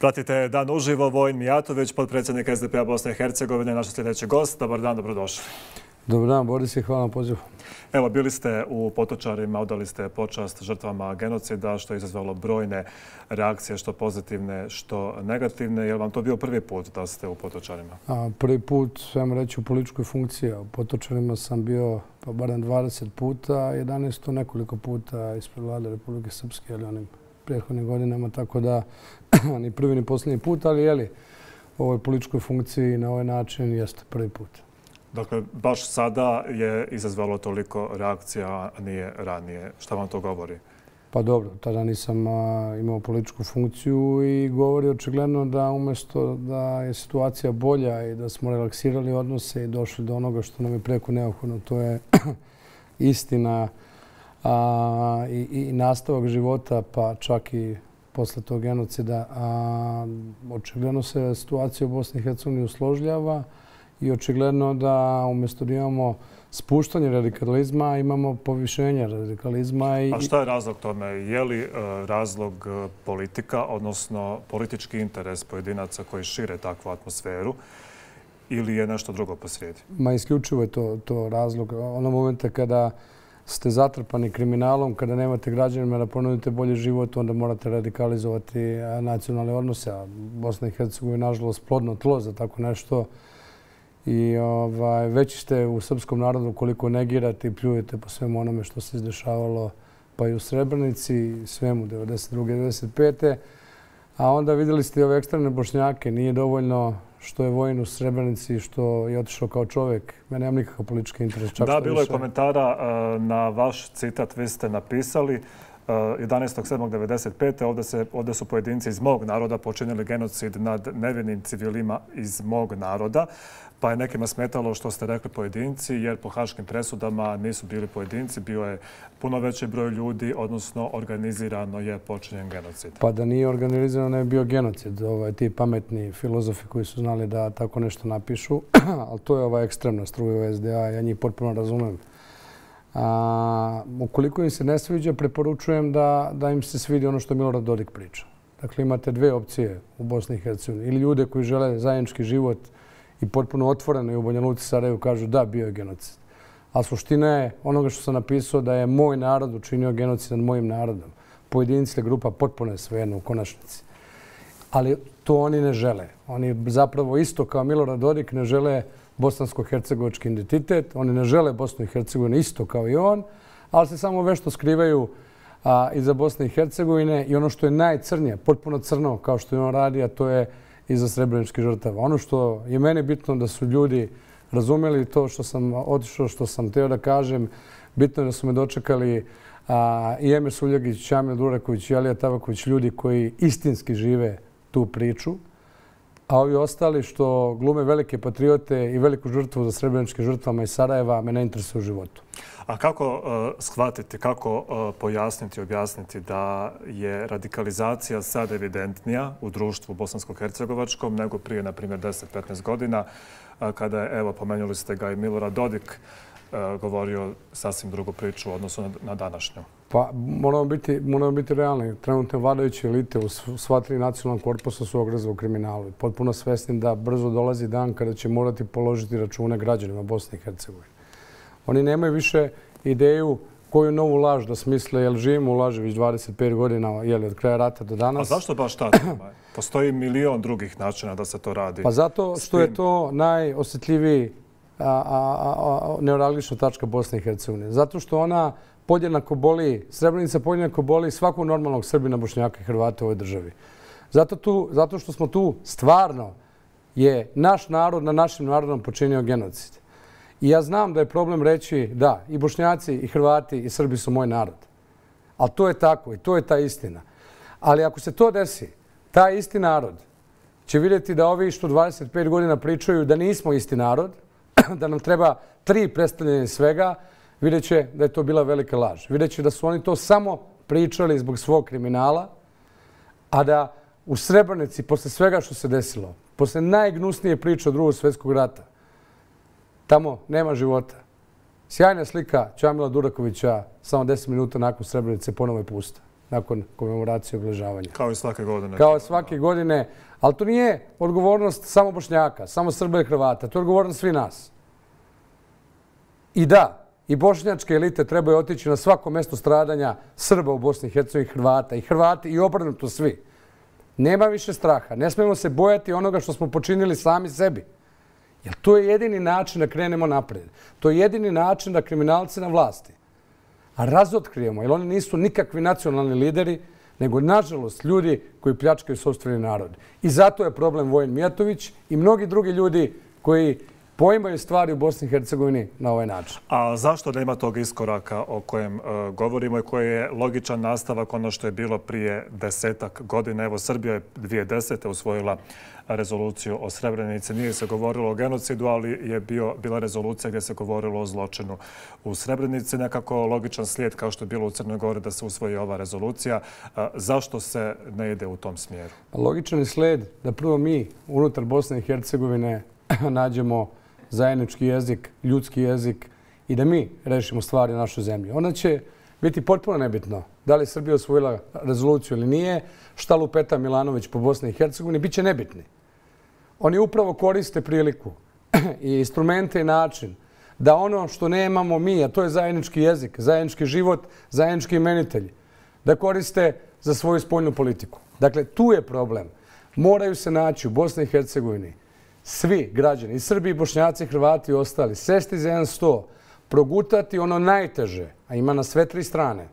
Pratite Dan uživo. Vojin Mijatović, potpredsjednik SDP-a Bosne i Hercegovine, naš sljedeći gost. Dobar dan, dobrodošli. Dobar dan, Boris, i hvala na pozivu. Evo, bili ste u Potočarima, odali ste počast žrtvama genocida, što je izazvalo brojne reakcije, što pozitivne, što negativne. Je li vam to bio prvi put da ste u Potočarima? Prvi put, svema reći, u političkoj funkciji. U Potočarima sam bio pa barem 20 puta, 11 nekoliko puta ispred vlade Republike Srpske, ali onim prethodnim godinama, tako da ni prvi ni posljednji put, ali jeli, u ovoj političkoj funkciji na ovaj način jeste prvi put. Dakle, baš sada je izazvalo toliko reakcija, a nije ranije. Šta vam to govori? Pa dobro, tada nisam imao političku funkciju i govori očigledno da umjesto da je situacija bolja i da smo relaksirali odnose i došli do onoga što nam je preko neophodno, to je istina i nastavak života, pa čak i posle tog genocida. Očigledno se situacija u Bosni i Hercegovini usložljava i očigledno da umjesto da imamo spuštanje radikalizma, imamo povišenje radikalizma. A šta je razlog tome? Je li razlog politika, odnosno politički interes pojedinaca koji šire takvu atmosferu, ili je nešto drugo posrijedi? Ma isključivo je to razlog. Ono momenta kada ste zatrpani kriminalom, kada nemate građanima da ponudite bolji život, onda morate radikalizovati nacionalne odnose. A Bosna i Hercegovina je nažalost plodno tlo za tako nešto. I već ste u srpskom narodu koliko negirate i pljujete po svemu onome što se izdešavalo pa i u Srebrenici, svemu 92. 95. A onda vidjeli ste i ove ekstremne Bošnjake. Nije dovoljno što je Vojin u Srebrenici, što je otišao kao čovjek. Mene nemam nikakav politički interes. Da, bilo je komentara na vaš citat. Vi ste napisali 11.7.95. Ovdje su pojedinci iz mog naroda počinili genocid nad nevinim civilima iz mog naroda. Pa je nekima smetalo što ste rekli pojedinci, jer po haškim presudama nisu bili pojedinci, bio je puno veći broj ljudi, odnosno organizirano je počinjen genocid. Pa da nije organizirano, ne bi bio genocid. Ti pametni filozofi koji su znali da tako nešto napišu, ali to je ova ekstremna struja u SDA, ja njih potpuno razumem. Ukoliko im se ne sviđa, preporučujem da im se svidi ono što Milorad Dodik priča. Dakle, imate dve opcije u Bosni i Hercegovini. Ili ljude koji žele zajednički život i potpuno otvoreno i u Banja Luci, Sarajevu kažu da, bio je genocid. A suština je onoga što sam napisao da je moj narod učinio genocid nad mojim narodom. Pojedinci, grupa, potpuno je svejedno u konačnici. Ali to oni ne žele. Oni zapravo isto kao Milorad Dodik ne žele bosansko-hercegovački identitet. Oni ne žele Bosnu i Hercegovinu isto kao i on, ali se samo vešto skrivaju iza Bosne i Hercegovine i ono što je najcrnije, potpuno crno kao što je on radi, a to je iza srebreničkih žrtava. Ono što je meni bitno da su ljudi razumeli to što sam otišao, što sam teo da kažem, bitno je da su me dočekali i Emir Suljagić, Čamil Duraković i Alija Tabaković, ljudi koji istinski žive tu priču, a ovi ostali što glume velike patriote i veliku žrtvu za srebreničkim žrtvama iz Sarajeva me ne interesuje u životu. A kako shvatiti, kako pojasniti, objasniti da je radikalizacija sad evidentnija u društvu bosansko-hercegovačkom nego prije, na primjer, 10-15 godina, kada je, evo, pomenuli ste ga i Milorad Dodik, govorio sasvim drugu priču u odnosu na današnju? Pa moramo biti realni. Trenutne vladajuće elite u sva tri nacionalna korpusa su ogrezali u kriminalu. Potpuno svesni da brzo dolazi dan kada će morati položiti račune građanima Bosne i Hercegovine. Oni nemaju više ideju koju novu laž da smisle, jer živimo u laži već 25 godina, od kraja rata do danas. A zašto baš ta tema? Postoji milion drugih načina da se to radi. Pa zato što je to najosjetljiviji neuralgična tačka Bosne i Hercegovine. Zato što ona podjednako boli, Srebrenica podjednako boli svakog normalnog Srbina, Bošnjaka i Hrvata u ovoj državi. Zato što smo tu stvarno je naš narod na našim narodom počinio genocid. I ja znam da je problem reći da i Bošnjaci i Hrvati i Srbi su moj narod. Ali to je tako i to je ta istina. Ali ako se to desi, taj isti narod će vidjeti da ovi što 25 godina pričaju da nismo isti narod, da nam treba 3 predstavljanja svega, vidjet će da je to bila velika laž. Vidjet će da su oni to samo pričali zbog svog kriminala, a da u Srebrenici, posle svega što se desilo, posle najgnusnije priče od Drugog svjetskog rata, tamo nema života. Sjajna slika Čamila Durakovića samo 10 minuta nakon Srebrenice ponovo je pusta. nakon komemoracije obeležavanja. Kao i svake godine. Kao svake godine. Ali to nije odgovornost samo Bošnjaka, samo Srba i Hrvata. To je odgovornost svi nas. I da, i bošnjačke elite trebaju otići na svako mjesto stradanja Srba u Bosni i Hercegovini, Hrvata. I Hrvati i obrnuto svi. Nema više straha. Ne smijemo se bojati onoga što smo počinili sami sebi. Jer to je jedini način da krenemo napred. To je jedini način da kriminalci na vlasti razotkrijemo, jer oni nisu nikakvi nacionalni lideri, nego, nažalost, ljudi koji pljačkaju sopstveni narod. I zato je problem Vojin Mijatović i mnogi drugi ljudi koji poimaju stvari u Bosni i Hercegovini na ovaj način. A zašto nema tog iskoraka o kojem govorimo i koji je logičan nastavak ono što je bilo prije 10-ak godina? Evo, Srbija je 2010. usvojila rezoluciju o Srebrenici. Nije se govorilo o genocidu, ali je bila rezolucija gdje se govorilo o zločinu u Srebrenici. Nekako logičan slijed kao što je bilo u Crnoj Gori da se usvoji ova rezolucija. Zašto se ne ide u tom smjeru? Logičan je slijed da prvo mi unutar Bosne i Hercegovine nađemo zajednički jezik, ljudski jezik i da mi rešimo stvari u našoj zemlji. Onda će biti potpuno nebitno da li je Srbija osvojila rezoluciju ili nije, šta lupeta Milanović po Bosni i Hercegovini, bit će nebitni. Oni upravo koriste priliku i instrumente i način da ono što nemamo mi, a to je zajednički jezik, zajednički život, zajednički imenitelj, da koriste za svoju spoljnu politiku. Dakle, tu je problem. Moraju se naći u Bosni i Hercegovini svi građani, i Srbi, i Bošnjaci, i Hrvati i ostali, sesti za jedan sto, progutati ono najteže, a ima na sve tri strane,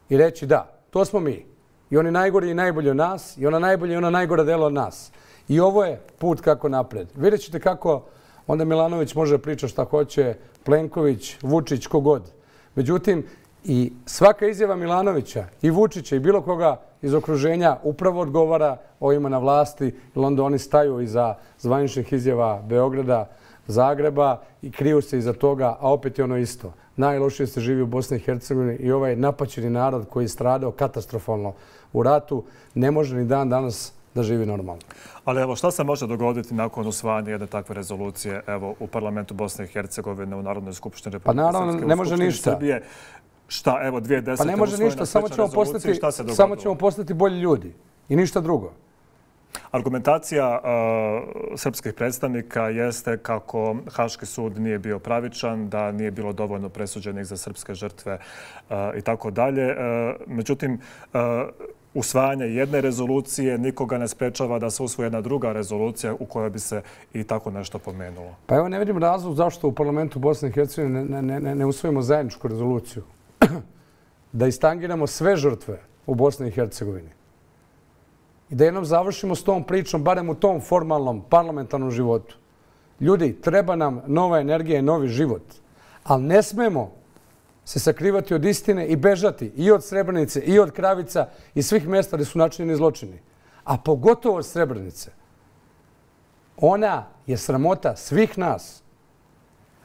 i reći da, to smo mi. I oni najgori i najbolji od nas, i ona najbolja i ona najgora dela od nas. I ovo je put kako napred. Vidjet ćete kako onda Milanović može priča šta hoće, Plenković, Vučić, kogod. Međutim, i svaka izjava Milanovića i Vučića i bilo koga iz okruženja upravo odgovara ovima na vlasti, jer onda oni staju iza zvaničnih izjava Beograda, Zagreba i kriju se iza toga, a opet je ono isto. Najlošije se živi u Bosni i Hercegovini i ovaj napaćeni narod koji je stradao katastrofalno u ratu ne može ni dan danas da živi normalno. Ali evo, šta se može dogoditi nakon usvajanja jedne takve rezolucije u parlamentu Bosne i Hercegovine, u Narodnoj skupštini Republike Srpske, pa naravno, ne može ništa. Srbije? Šta, evo, 2010. Pa ne može ništa, samo ćemo postati bolji ljudi i ništa drugo. Argumentacija srpskih predstavnika jeste kako Haški sud nije bio pravičan, da nije bilo dovoljno presuđenih za srpske žrtve i tako dalje. Međutim, usvajanje jedne rezolucije nikoga ne sprečava da se usvoji jedna druga rezolucija u kojoj bi se i tako nešto pomenulo. Pa evo, ne vidim razlog zašto u parlamentu Bosne i Hercegovine ne usvojimo zajedničku rezoluciju. Da istangiramo sve žrtve u Bosni i Hercegovini. I da jednom završimo s tom pričom, barem u tom formalnom parlamentarnom životu. Ljudi, treba nam nova energija i novi život. Ali ne smemo se sakrivati od istine i bežati i od Srebrenice, i od Kravica, i svih mjesta gdje su načinjeni zločini. A pogotovo od Srebrenice. Ona je sramota svih nas.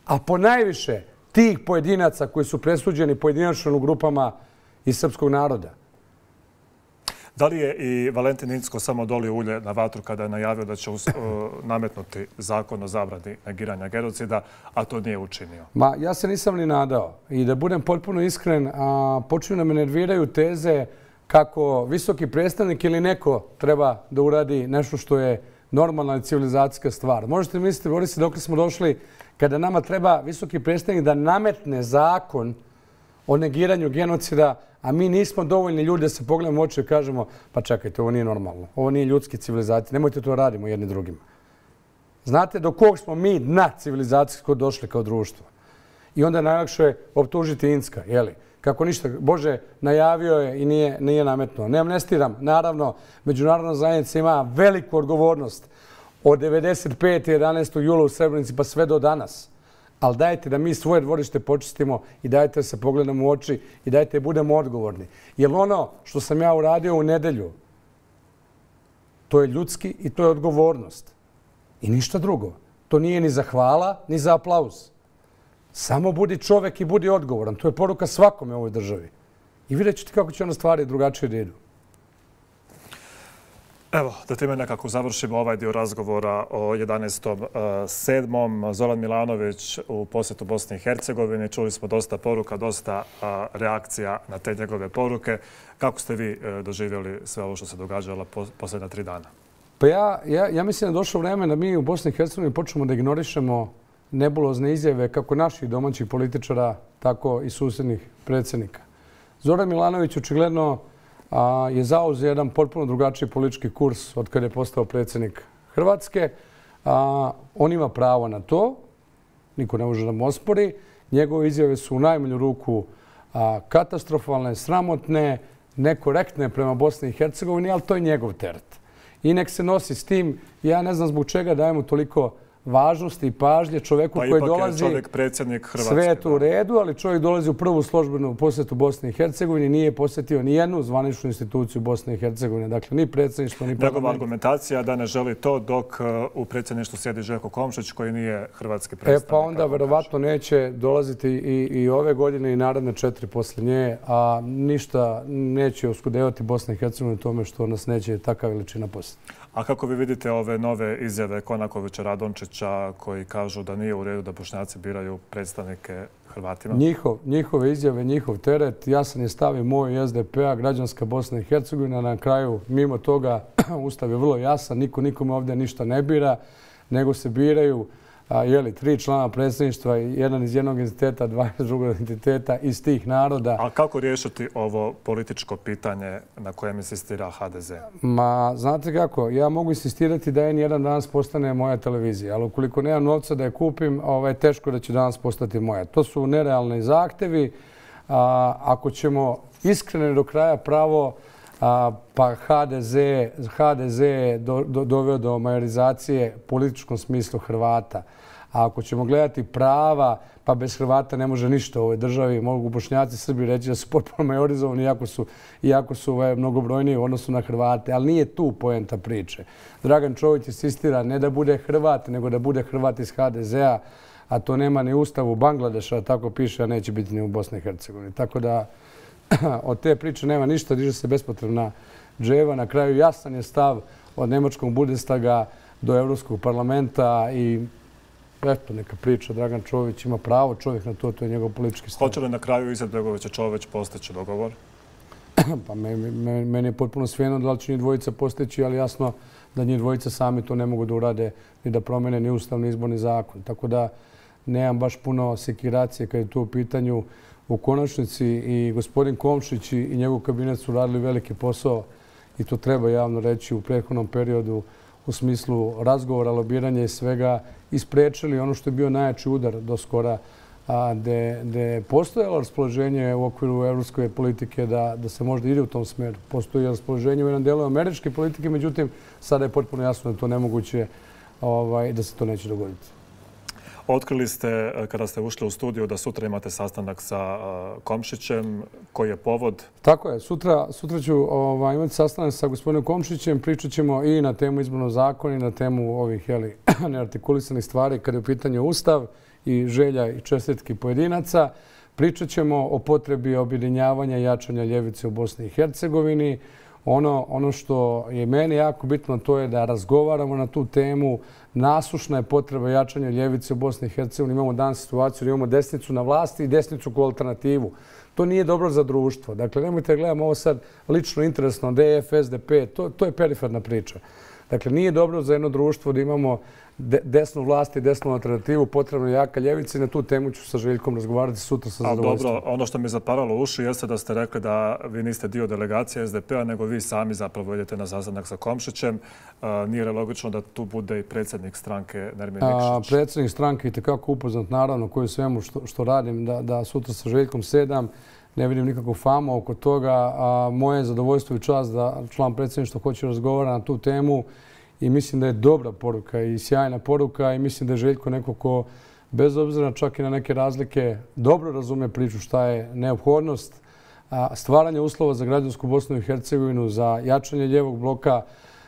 A ponajviše tih pojedinaca koji su presuđeni pojedinačno u grupama iz srpskog naroda. Da li je i Valentin Incko samo dolio ulje na vatru kada je najavio da će nametnuti zakon o zabrani negiranja genocida, a to nije učinio? Ja se nisam ni nadao. I da budem potpuno iskren, počinju da me nerviraju teze kako visoki predstavnik ili neko treba da uradi nešto što je normalna i civilizacijska stvar. Možete misliti, Boris, dok smo došli kada nama treba visoki predstavnik da nametne zakon o negiranju genocida, a mi nismo dovoljni ljudi da se pogledamo u oči i kažemo pa čekajte, ovo nije normalno, ovo nije ljudski civilizacija, nemojte to radimo jedni drugima. Znate do kog smo mi dna civilizacijsko došli kao društvo? I onda je najlakše optužiti Incka, jeli? Kako ništa, Bože, najavio je i nije nametnuo. Ne amnestiram, naravno, međunarodna zajednica ima veliku odgovornost od 95. 11. jula u Srebrenici pa sve do danas. Ali dajte da mi svoje dvorište počistimo i dajte da se pogledamo u oči i dajte da budemo odgovorni. Jer ono što sam ja uradio u nedelju, to je ljudski i to je odgovornost. I ništa drugo. To nije ni za hvala, ni za aplauz. Samo budi čovek i budi odgovoran. To je poruka svakome u ovoj državi. I vidjet ćete kako će ono stvari drugačije da idu. Evo, da time nekako završimo ovaj dio razgovora o 11.7. Zoran Milanović u posjetu Bosni i Hercegovini. Čuli smo dosta poruka, dosta reakcija na te njegove poruke. Kako ste vi doživjeli sve ovo što se događalo posljednja 3 dana? Pa ja mislim da je došlo vreme da mi u Bosni i Hercegovini počnemo da ignorišemo nebulozne izjave kako naših domaćih političara, tako i susjednih predsjednika. Zoran Milanović očigledno je zauzeo jedan potpuno drugačiji politički kurs od kada je postao predsjednik Hrvatske. On ima pravo na to, niko ne može da mu ospori. Njegove izjave su u najmanju ruku katastrofalne, sramotne, nekorektne prema Bosni i Hercegovini, ali to je njegov teret. I nek se nosi s tim. Ja ne znam zbog čega dajemo toliko važnosti i pažnje čovjeku koji dolazi... Pa ipak je čovjek predsjednik Hrvatske. Sve je to u redu, ali čovjek dolazi u prvu službenu posjetu Bosne i Hercegovine, nije posjetio ni jednu zvaničnu instituciju Bosne i Hercegovine. Dakle, ni predsjedništvo, ni parlament. Njegova argumentacija da ne želi to dok u predsjedništvu sjedi Željko Komšić koji nije hrvatski predstavnik. Pa onda verovatno neće dolaziti i ove godine i naredne 4 poslije nje, a ništa neće oskudevati Bosna i Hercegovina u tome što nas neće takva veličina posjetiti. A kako vi vidite ove nove izjave Konakovića, Radončića koji kažu da nije u redu da Bošnjaci biraju predstavnike Hrvatima? Njihove izjave, njihov teret, jasan je stav i moj SDP-a, građanska Bosna i Hercegovina. Na kraju, mimo toga, ustav je vrlo jasan, niko nikome ovdje ništa ne bira, nego se biraju 3 člana predsjedništva, jedan iz jednog entiteta, 2 iz drugog entiteta, iz tih naroda. A kako riješiti ovo političko pitanje na kojem insistira HDZ? Ma, znate kako, ja mogu insistirati da N1 danas postane moja televizija, ali ukoliko nemam novca da je kupim, teško da će danas postati moja. To su nerealni zahtevi. Ako ćemo iskreno do kraja pravo, pa HDZ je doveo do majorizacije u političkom smislu Hrvata. A ako ćemo gledati prava, pa bez Hrvata ne može ništa u ovoj državi. Mogu Bošnjaci, Srbi reći da su potpuno majorizovani, iako su mnogobrojniji u odnosu na Hrvate. Ali nije tu poenta priče. Dragan Čović insistira ne da bude Hrvat, nego da bude Hrvat iz HDZ-a, a to nema ni ustavu Bangladeša, tako piše, a neće biti ni u Bosni i Hercegovini. Tako da od te priče nema ništa, diže se bespotrebna dževa. Na kraju jasan je stav od Nemačkog Bundestaga do Evropskog parlamenta i eto, neka priča. Dragan Čović ima pravo, čovjek na to, to je njegov politički stav. Hoće li na kraju Izetbegović i Čović postići dogovor? Pa meni je potpuno svejedno da li će njih dvojica postići, ali jasno da njih dvojica sami to ne mogu da urade ni da promene ni ustav, ni izborni zakon. Tako da nemam baš puno sekiracije kad je to u pitanju. U konačnici i gospodin Komšić i njegov kabinet su radili veliki posao i to treba javno reći u prethodnom periodu u smislu razgovora, lobiranja i svega isprečili ono što je bio najjači udar do skora, gde je postojalo raspoloženje u okviru evropske politike da se možda ide u tom smeru. Postoji raspoloženje u jednom delu američke politike, međutim, sada je potpuno jasno da to nemoguće i da se to neće dogoditi. Otkrili ste, kada ste ušli u studiju, da sutra imate sastanak sa Komšićem. Koji je povod? Tako je. Sutra ću imati sastanak sa gospodinom Komšićem. Pričat ćemo i na temu izbornog zakona i na temu ovih neartikulisanih stvari kada je u pitanju ustav i želja i čestitki pojedinaca. Pričat ćemo o potrebi objedinjavanja i jačanja ljevice u Bosni i Hercegovini. Ono što je meni jako bitno to je da razgovaramo na tu temu. Nasušna je potreba jačanja ljevice u Bosni i Hercegovini. Imamo danas situaciju da imamo desnicu na vlasti i desnicu kao alternativu. To nije dobro za društvo. Dakle, nemojte gledamo ovo sad lično interesno, DF, SDP, to je periferna priča. Dakle, nije dobro za jedno društvo da imamo desnu vlast i desnu alternativu, potrebno je jaka ljevica i na tu temu ću sa Željkom razgovarati sutra sa zadovoljstvom. Dobro, ono što mi je zaparalo uši jeste da ste rekli da vi niste dio delegacije SDP-a, nego vi sami zapravo idete na sastanak sa Komšićem. Nije li logično da tu bude i predsjednik stranke Nermin Nikšić? Predsjednik stranke je itekako upoznat, naravno, koji svemu što radim, da sutra sa Željkom sedam. Ne vidim nikakvu famu oko toga. Moje je zadovoljstvo i čast da član predsjedništva hoće razgovarati na tu temu. I mislim da je dobra poruka i sjajna poruka i mislim da je Željko neko ko, bez obzira čak i na neke razlike, dobro razume priču šta je neophodnost stvaranja uslova za građansku Bosnu i Hercegovinu, za jačanje ljevog bloka,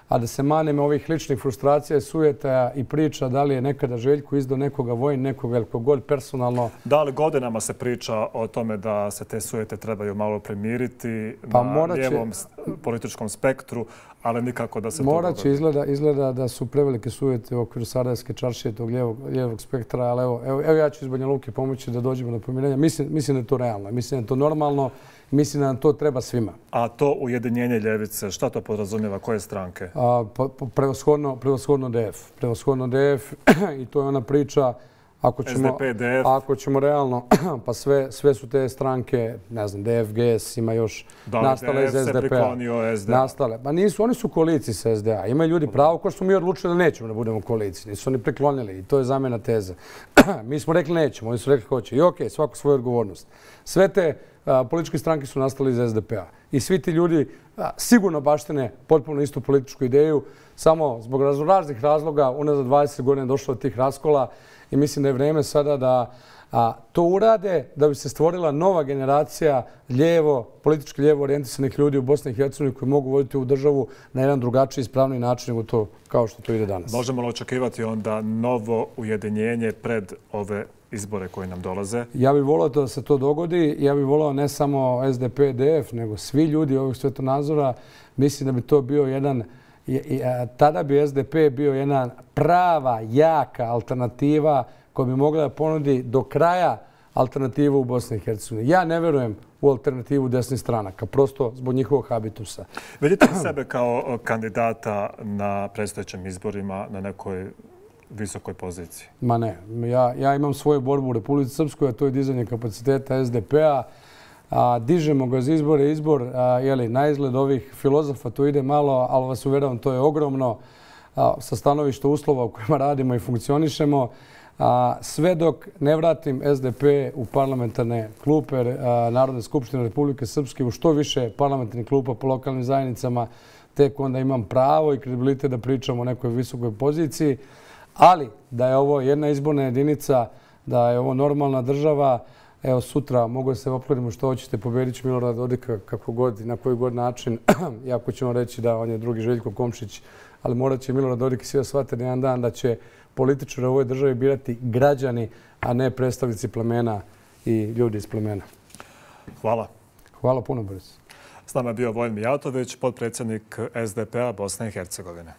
a da se maneme ovih ličnih frustracija, sujetaja i priča da li je nekada Željko izdao nekoga vojn, nekoga ili kogod personalno. Da li godinama se priča o tome da se te sujete trebaju malo premiriti na lijevom političkom spektru, ali nikako da se to Morat će izgleda da su prevelike sujete u okviru Sarajevske čaršije, tog lijevog spektra, ali evo ja ću iz Banja Luke pomoći da dođemo do pomirenja. Mislim da je to realno, mislim da je to normalno, mislim da nam to treba svima. A to ujedinjenje ljevice, šta to podrazumijeva? Koje stranke? Prevashodno DF. Prevashodno DF i to je ona priča. Ako ćemo realno, pa sve su te stranke, ne znam, DFGS ima još nastale iz SDP-a. DF se priklonio SDA. Nastale. Pa nisu, oni su u koaliciji sa SDA. Imaju ljudi pravo ko smo mi odlučili da nećemo da budemo u koaliciji. Nisu oni priklonili i to je zamjena teze. Mi smo rekli nećemo, oni su rekli hoće. I okej, svako svoju odgovornost. Sve te političke stranke su nastale iz SDP-a. I svi ti ljudi sigurno baštine potpuno istu političku ideju, samo zbog raznih razloga unazad 20 godina je došlo do tih raskola. I mislim da je vreme sada da to urade da bi se stvorila nova generacija politički lijevo orijentisanih ljudi u Bosni i Hercegovini koji mogu voditi ovu državu na jedan drugačiji i ispravniji način nego to kao što to ide danas. Možemo li očekivati onda novo ujedinjenje pred ove izbore koji nam dolaze? Ja bih volio da se to dogodi. Ja bih volio ne samo SDP, DF, nego svi ljudi ovih svjetonazora. Mislim da bi to bio jedan... Tada bi SDP bio jedna prava, jaka alternativa koja bi mogla da ponudi do kraja alternativu u Bosni i Hercegovini. Ja ne verujem u alternativu desnih stranaka, prosto zbog njihovog habitusa. Vidite li sebe kao kandidata na predstojećim izborima na nekoj visokoj poziciji? Ma ne. Ja imam svoju borbu u Republici Srpskoj, a to je dizanje kapaciteta SDP-a. Dižemo ga za izbor, na izgled ovih filozofa to ide malo, ali vas uveravam, to je ogromno sa stanovišta uslova u kojima radimo i funkcionišemo. Sve dok ne vratim SDP u parlamentarne klupe Narodne skupštine Republike Srpske, u što više parlamentarnih klupa po lokalnim zajednicama, tek onda imam pravo i kredibilitet da pričam o nekoj visokoj poziciji. Ali da je ovo jedna izborna jedinica, da je ovo normalna država, evo sutra mogu da se opkladimo što hoćete, pobedit će Milorada Dodika kako god i na koji god način. Iako ćemo reći da on je drugi Željko Komšić, ali morat će Milorad Dodik i svi da shvate na jedan dan da će političari u ovoj državi birati građani, a ne predstavnici plemena i ljudi iz plemena. Hvala. Hvala puno, Boris. S nama je bio Vojin Mijatović, potpredsjednik SDP-a Bosne i Hercegovine.